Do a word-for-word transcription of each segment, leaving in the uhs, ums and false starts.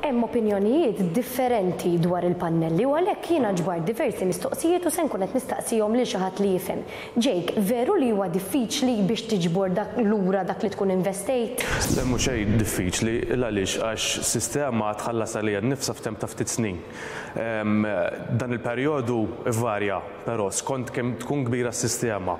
Hemm opinjonijiet differenti dwar il-pannelli u għalhekk jiena ġbart diversi mistoqsijiet u se nkun qed nistaqsihom lil xi ħadd li jifhem. Jake, veru li huwa diffiċli biex tiġbor dak lura dak li tkun investejt? Le, mhux xejn diffiċli, għaliex għax sistema tħallas għaliha nnifsha f'temp ta' ftit snin. Dan il-perjodu varja, però skont kemm tkun kbira s-sistema.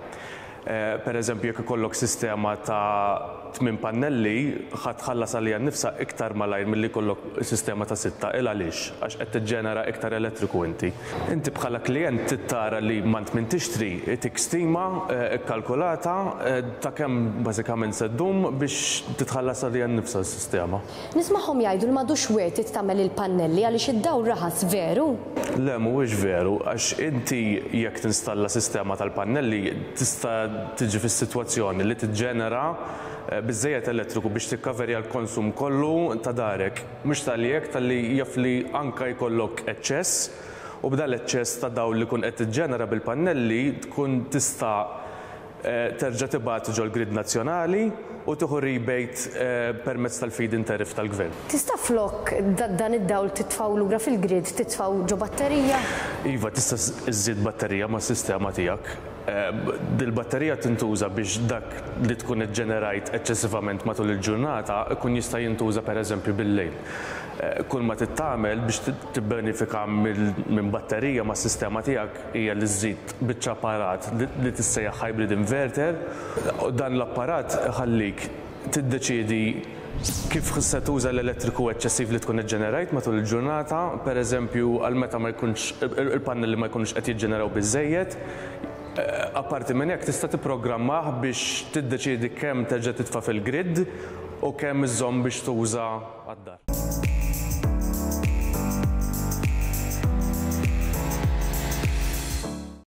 Per eżempju, jekk ikollok sistema ta' tmien pannelli, ħa tħallas għaliha nnifsha iktar malajr milli jkollok sistema ta' sitta. Il għaliex? Għax qed tiġġenera iktar elettriku inti. Inti bħala klient tittara li mant min tixtri itik stima kkalkulata ta' kemm bażikament se ddum biex titħallas għaliha nnifsha s-sistema. Nismagħhom jgħidu li m'għadux worth it tagħmel il-pannelli għaliex id-dawl raħas, veru? Le, mhuwiex veru, għax inti jekk tinstalla sistema tal-pannelli tista' tiġi fis-sitwazzjoni li tiġġenera biżżejjed elettriku biex tikkaverja l-konsum kollu ta' darek. Mhux talli hekk, talli jaf li anka jkollok eċċess u b'dal eċċess ta' dawl li kun qed tiġġenera bil-pannelli tkun tista' terġa' tibgħat ġol-grid nazzjonali u tieħu rebate permezz tal-feed-in tariff tal-gvern. Tista' flok dan id-dawl titfgħu lura fil-grid, titfgħu ġo batterija? Iva, tista' iżżid batterija mas-sistema tiegħek. Dil-batterija tintuża biex dak li tkun iġġenerajt eċċessivament matul il-ġurnata ikun jista' jintuża pereżempju bil-lejl. Kull ma tittamel biex tibbenefika minn batterija mas-sistema tiegħek hija li żżid biċċa apparat li tissejjaħ hybrid inverter. U dan l-apparat iħallik tiddeċiedi kif se tuża l-elettriku eċċessiv li tkun iġġenerajt matul il-ġurnata, pereżempju għal meta ma jkunx il-pannelli ma jkunux qed jiġġeneraw biżżejjed. Apparti minn hekk tista' tipprogrammah biex tiddeċiedi kemm terġa' titfa' fil-grid u kemm iżżomm biex tuża għad-dar.